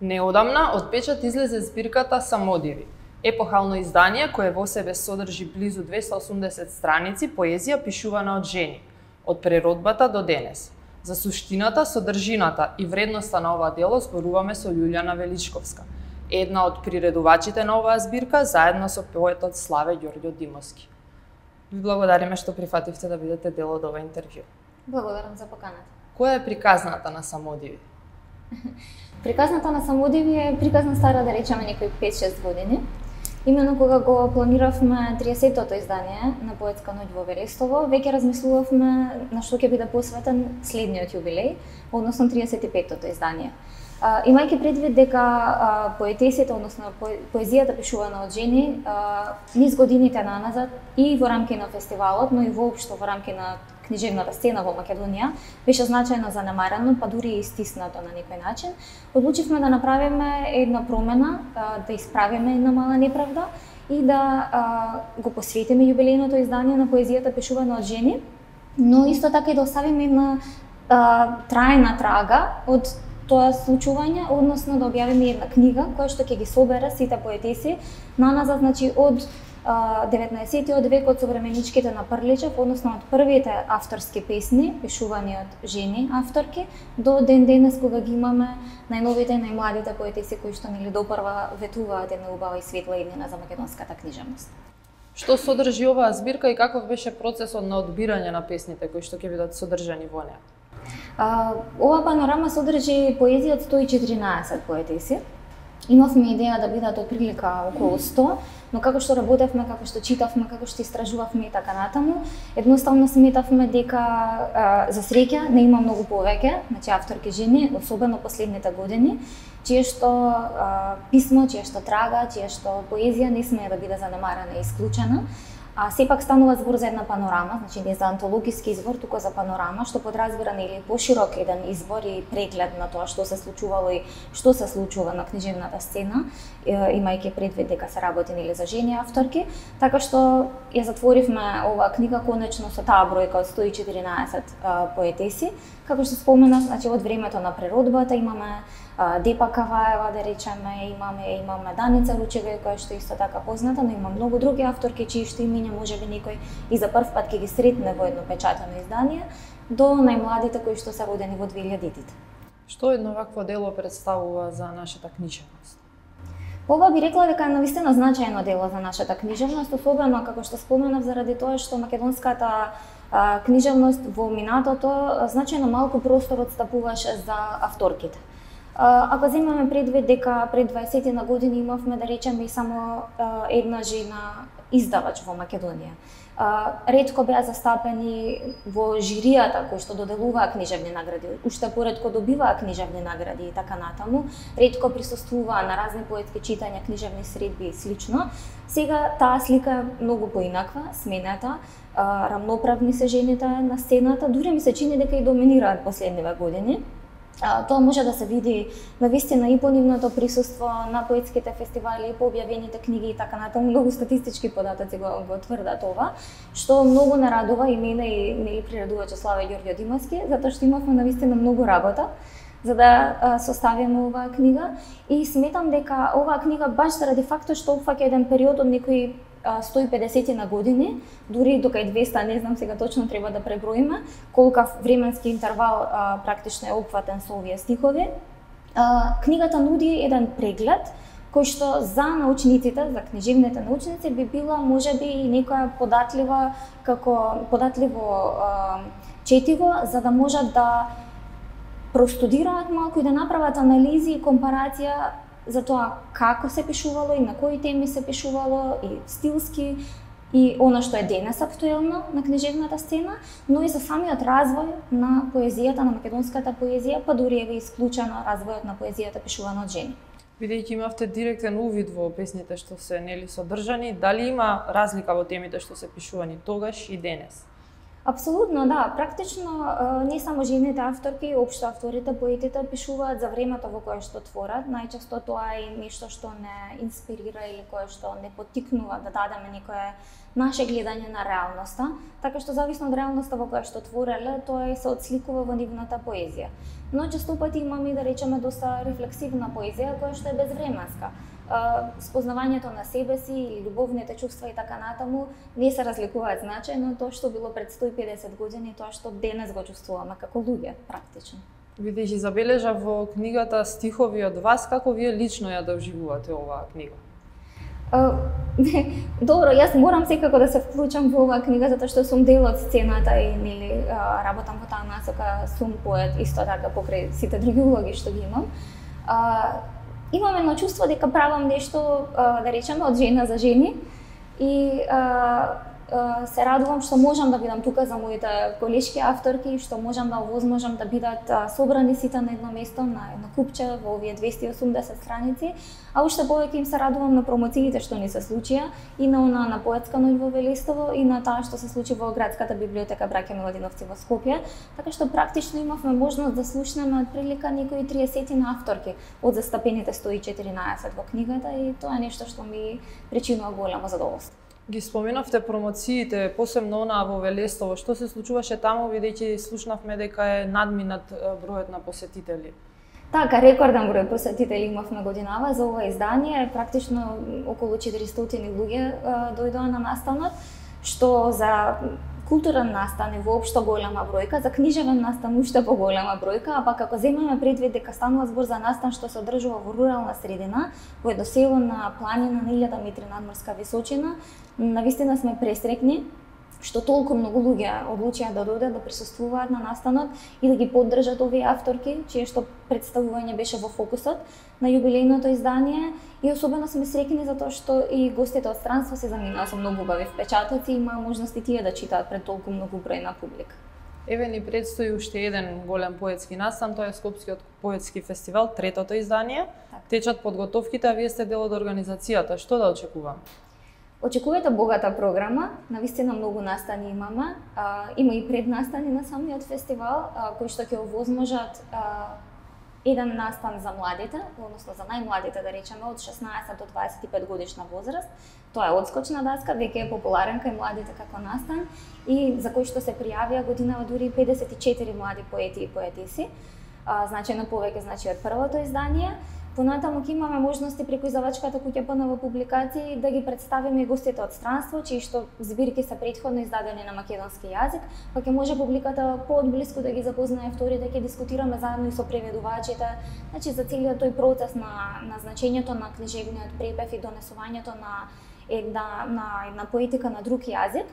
Неодамна од печат излезе збирката Самодиви, епохално издание кое во себе содржи близу 280 страници поезија пишувана од жени, од преродбата до денес. За суштината, содржината и вредноста на ова дело зборуваме со Љулјана Величковска, една од приредувачите на оваа збирка, заедно со поетот Славе Ѓорѓо Димовски. Ви благодариме што прифативте да бидете дел од ова интервју. Благодарам за поканата. Која е приказната на Самодиви? Приказната на Самодиви е приказна стара, да речеме, некои 5-6 години. Именно кога го планиравме 30-тото издание на Поетска ноќ во Верестово, веќе размислувавме на што ќе биде посветен следниот јубилеј, односно 35-тото издание. Имајќи предвид дека поетесите, односно поезијата пишувана од жени, низ годините наназад и во рамки на фестивалот, но и воопшто во рамки на книжевната сцена во Македонија, беше значајно занемарено, па дури и стиснато на некој начин. Одлучивме да направиме една промена, да исправиме една мала неправда и да го посветиме јубилејното издание на поезијата пишувана од жени, но исто така и да оставиме една трајна трага од тоа случување, односно да објавиме една книга која што ќе ги собере сите поетеси наназад, значи од 19-тиот век, од современичките на Прличев, односно од првите авторски песни пишувани од жени авторки до ден денес кога ги имаме најновите и најмладите поетеси кои што нели допрва ветуваат една убава и светла иднина за македонската книжевност. Што содржи оваа збирка и каков беше процесот на одбирање на песните кои што ќе бидат содржани во неа? Ова панорама содржи поезија од 114 поетеси. Имавме идеја да бидат отприлика околу 100, но како што работевме, како што читавме, како што истражувавме и така натаму, едноставно сметавме дека за среќа не има многу повеќе, значи авторки жени, особено последните години, чие што писмо, чие што трага, чие што поезија не смее да биде занемарена и исклучена. Сепак станува збор за една панорама, значи не за антологиски избор, туку за панорама, што подразбира нели поширок еден избор и преглед на тоа што се случувало и што се случува на книжевната сцена, имајќи предвид дека се работи нели за жени авторки, така што ја затворивме оваа книга конечно со таа бројка од 114 поетеси. Како што споменав, значи од времето на преродбата имаме Депа Каваева, да речеме, имаме Даница Ручева, која што исто така позната, но има многу други авторки чии што имиња можеби некој и за прв пат ќе ги сретне во едно печатено издание, до најмладите кои што се родени во 2000-тите. Што едно вакво дело представува за нашата книжевност? Ова би рекла дека е навистина значајно дело за нашата книжевност, особено како што споменав заради тоа што македонската книжевност во минатото значајно малку простор отстапуваше за авторките. Ако земеме предвид дека пред 20 на години имавме, да речеме, и само една жена издавач во Македонија. Ретко беа застапени во жиријата кои што доделуваа книжевни награди, уште поретко добиваа книжевни награди и така натаму, ретко присуствуваа на разни поетски читања, книжевни средби и слично. Сега таа слика е многу поинаква, сменета, рамноправни се жените на сцената, дури ми се чини дека и доминираат последниве години. Тоа може да се види навистина и по нивното присуство на поетските фестивали, и по објавените книги и така натаму. Многу статистички податоци го тврдат ова, што многу нарадува и мене и нели приредувачот Славе Ѓорѓо Димовски, затоа што имавме навистина многу работа за да составиме оваа книга и сметам дека оваа книга баш заради фактот што опфаќа еден период од некои 150 на години, дури до кај 200, не знам сега точно, треба да преброиме колкав временски интервал практично е опфатен со овие стихови. Книгата нуди еден преглед кој што за научниците, за книжевните научници би била можеби и некоја податливо четиво за да можат да простудираат малку и да направат анализи и компарација за тоа како се пишувало и на кои теми се пишувало и стилски и она што е денес актуелно на книжевната сцена, но и за самиот развој на поезијата, на македонската поезија, па дури еве исклучено развојот на поезијата пишувана од жени. Бидејќи имавте директен увид во песните што се нели содржани, дали има разлика во темите што се пишувани тогаш и денес? Апсолутно, да. Практично не само жените авторки, општо авторите, поетите пишуваат за времето во кое што творат. Најчесто тоа е нешто што не инспирира или кое што не поттикнува да дадеме некое наше гледање на реалноста, така што зависно од реалноста во која што твореле, тоа се отсликува во нивната поезија. Но често пати имаме, да речеме, доста рефлексивна поезија која што е безвременска. Спознавањето на себе си или љубовните чувства и така натаму не се разликуваат значајно тоа што било пред 150 години и тоа што денес го чувствуваме како луѓе практично. Бидејќи забележав во книгата стихови од вас, како вие лично ја доживувате оваа книга? Добро, јас морам секако да се вклучам во оваа книга затоа што сум дел од сцената и нели работам во таа насока, сум поет исто така покрај сите други улоги што ги имам. Имам едно чувство дека правам нешто, да речеме, од жена за жени и се радувам што можам да бидам тука за моите колешки авторки, што можам да овозможам да бидат собрани сите на едно место, на едно купче во овие 280 страници, а уште повеќе им се радувам на промоциите што ни се случија и на поетска ноќ во Велестово и на таа што се случи во градската библиотека Браќа Миладиновци во Скопје, така што практично имавме можност да слушнеме отприлика некои 30 авторки од застапените 114 во книгата и тоа е нешто што ми причинува големо задоволство. Ги споменавте промоциите, посебно онаа во Велестово. Што се случуваше таму, бидејќи слушнавме дека е надминат бројот на посетители? Така, рекорден број посетители имавме годинава за ова издание, практично околу 400 луѓе дојдоа на настанот, што за културен настан е воопшто голема бројка, за книжевен настан уште поголема бројка, а пак ако земеме предвид дека станува збор за настан што се одржува во рурална средина, во едно село на планина на 1000 метри надморска височина, навистина сме пресрекни што толку многу луѓе одлучија да додат, да присуствуваат на настанот и да ги поддржат овие авторки, чие што представување беше во фокусот на јубилејното издание. И особено сме среќни затоа што и гостите од странство се заминаа со многу убави впечатоци и имаа можност и тие да читаат пред толку многу број на публика. Еве ни предстои уште еден голем поетски настан, тоа е Скопскиот поетски фестивал, третото издание. Так. Течат подготовките, а вие сте дел од организацијата. Што да очекуваме? Очекувате богата програма, навистина многу настани имаме. Има и преднастани на самиот фестивал, кои што ќе овозможат еден настан за младите, односно за најмладите, да речеме, од 16 до 25 годишна возраст. Тоа е одскочна даска, веќе е популарен кај младите како настан и за кој што се пријавија годинава дури 54 млади поети и поетиси, значајно повеќе од првото издание. Понатаму ќе имаме можности преку издавачката куќа ПНВ публикации да ги представиме и гостите од странство, чии што збирки се претходно издадени на македонски јазик, па ќе може публиката поодблиску да ги запознае авторите, ќе дискутираме заедно и со преведувачите, значи за целиот тој процес на значењето на книжевниот препев и донесувањето на една поетика на друг јазик.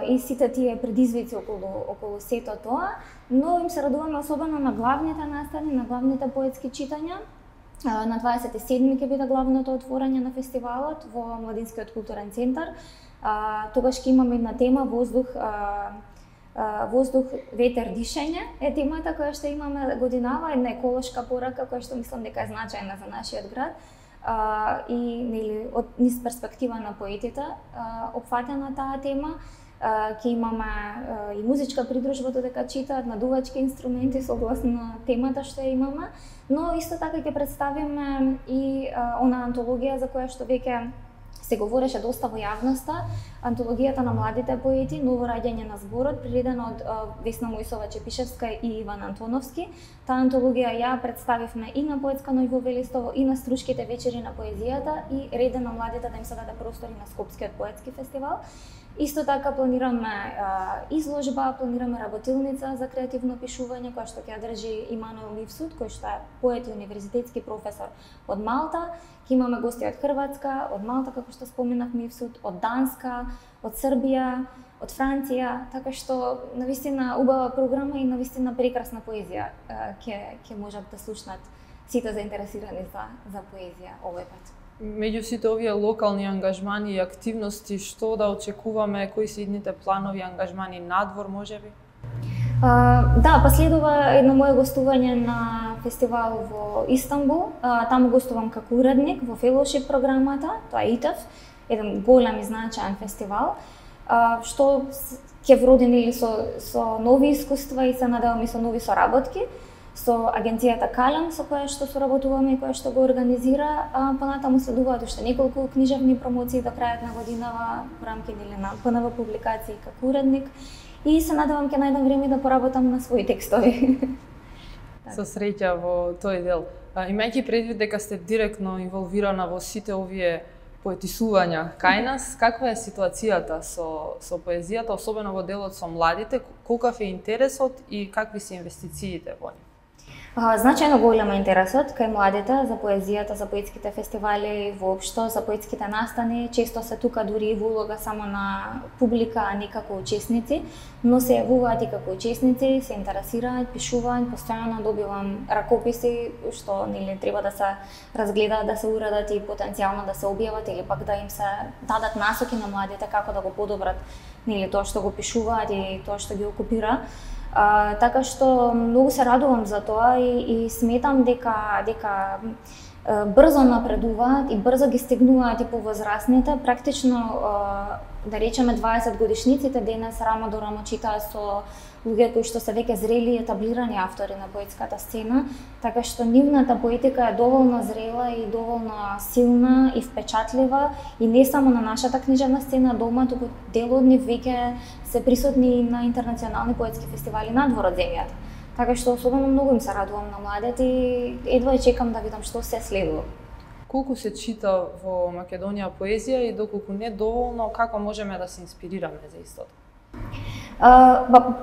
И сите тие предизвици околу сето тоа, но им се радуваме особено на главните настани, на главните поетски читања. На 27 ќе биде главното отворање на фестивалот во Младинскиот културен центар. Тогаш ќе имаме една тема воздух, ветер, дишење е темата која што имаме годинава, една еколошка порака која што мислам дека е значајна за нашиот град. И нели од низ перспектива на поетите опфатена таа тема. Ќе имаме и музичка придружба додека читаат на дувачки инструменти согласно темата што ја имаме, но исто така ќе представиме и она антологија за која што веќе се говореше доста во јавноста, антологијата на младите поети, ново раѓање на зборот, приредена од Весна Мојсова-Чепишевска и Иван Антоновски. Таа антологија ја представивме и на поетска ноќ во Велестово и на Струшките вечери на поезијата и реде на младите да им се даде простори на Скопскиот поетски фестивал. Исто така планираме изложба, планираме работилница за креативно пишување која што ќе држи Имануел Мивсуд, кој што е поет и универзитетски професор од Малта. Ќе имаме гости од Хрватска, од Малта, како што споменав Мивсуд, од Данска, од Србија, од Франција, така што навистина убава програма и навистина прекрасна поезија ќе можат да слушнат сите заинтересирани за поезија овој пат. Меѓу сите овие локални ангажмани и активности, што да очекуваме, кои се идните планови, ангажмани надвор, можеби? Да, последува едно мое гостување на фестивал во Истанбул. Таму гостувам како уредник во фелошип програмата, тоа е ИТЕФ, еден голем и значаен фестивал. што ќе вроди нели со нови искуства и се надевам и со нови соработки со агенцијата Калем со која што соработуваме и која што го организира, понатаму следуваат уште неколку книжевни промоции до крајот на годинава во рамки на ПНВ публикации како уредник и се надевам ќе најдам време да поработам на своји текстови. Со среќа во тој дел. Имајќи предвид дека сте директно инволвирана во сите овие поетисувања кај нас, каква е ситуацијата со поезијата, особено во делот со младите, колкав е интересот и какви се инвестициите во нив? Значајно голем е интересот кај младите за поезијата, за поетските фестивали и воопшто за поетските настани. Често се тука дури и во улога само на публика, а не како учесници, но се јавуваат и како учесници, се интересираат, пишуваат, постојано добивам ракописи што нели треба да се разгледаат, да се уредат и потенцијално да се објават или пак да им се дадат насоки на младите како да го подобрат нели тоа што го пишуваат и тоа што ги окупира. Така што многу се радувам за тоа и сметам дека брзо напредуваат и брзо ги стигнуваат и повозрасните. Практично, да речеме, 20 годишниците денес рамо до рамо читаат со луѓе кои што се веќе зрели и етаблирани автори на поетската сцена, така што нивната поетика е доволно зрела и доволно силна и впечатлива и не само на нашата книжевна сцена дома, туку дел од нив веќе се присутни на интернационални поетски фестивали надвор од земјата. Така што особено многу им се радувам на младите и едва чекам да видам што се следува. Колку се чита во Македонија поезија и доколку не доволно, како можеме да се инспирираме за истото?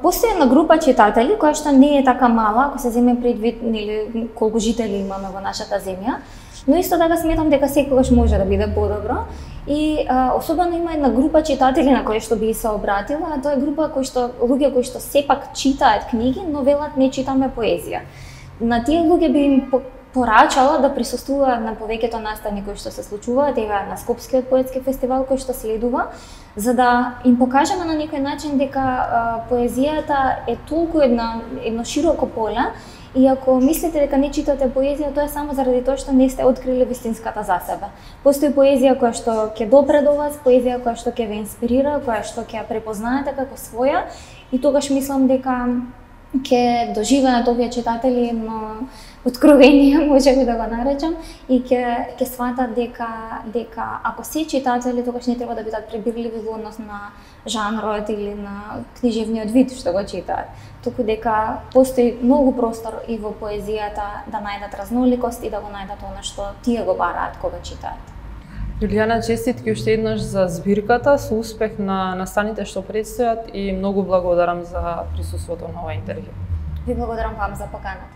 Постои една група читатели која што не е така мала, ако се земе предвид нели колку жители имаме во нашата земја, но исто така сметам дека секогаш може да биде подобро. И особено има една група читатели на кои што би се обратила, а тоа е група луѓе кои што сепак читаат книги, но велат не читаме поезија. На тие луѓе би им порачала да присуствуваат на повеќето настани кои што се случуваат ева на Скопскиот поетски фестивал кој што следува, за да им покажеме на некој начин дека поезијата е толку едно широко поле. И ако мислите дека не читате поезија, тоа е само заради тоа што не сте открили вистинската за себе. Постои поезија која што ќе допре до вас, поезија која што ќе ве инспирира, која што ќе ја препознаете како своја и тогаш мислам дека ќе доживеат овие читатели едно откровение, може би да го наречам, и ќе сватат дека ако се читатели, тогаш не треба да бидат пребирливи во однос на жанрот или на книжевниот вид што го читаат, туку дека постои многу простор и во поезијата да најдат разноликост и да го најдат она што тие го бараат кога читаат. Јулијана, честитки уште еднаш за збирката, со успех на настаните што предстојат и многу благодарам за присуството на ова интервју. Ви благодарам вам за поканата.